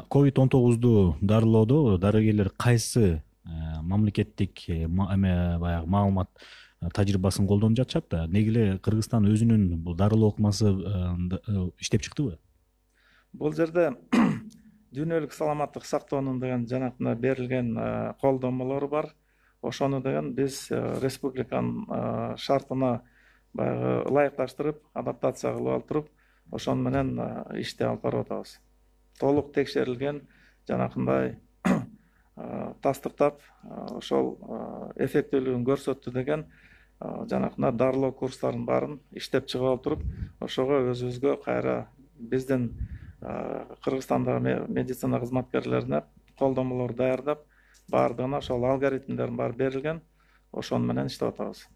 COVID-19 дарылоодо дарыгерлер кайсы мамлекеттик баягы маалымат тажрыйбасын колдонуп жатышат да, неге эле Кыргызстан өзүнүн бул дарылоо ыкмасы иштеп чыктыбы? Бул жерде дүйнөлүк саламаттык сактоонун деген жанагындай берилген колдомолору бар. Ошону деген биз республиканын шартына баягы ылайыкташтырып, адаптация кылып алып туруп, ошону менен ишти алып барып атабыз. Толук текшерилген, жанагындай тастыктап, ошол эффектүүлүгүн көрсөттү деген жанагындай дарылоо курстарынын баарын иштеп чыгып алып туруп, ошого өзүбүзгө кайра биздин Кыргызстандагы медицина кызматкерлерине колдомолор даярдап, баардыгына ошол алгоритмдердин баары берилген, ошону менен иштеп атабыз.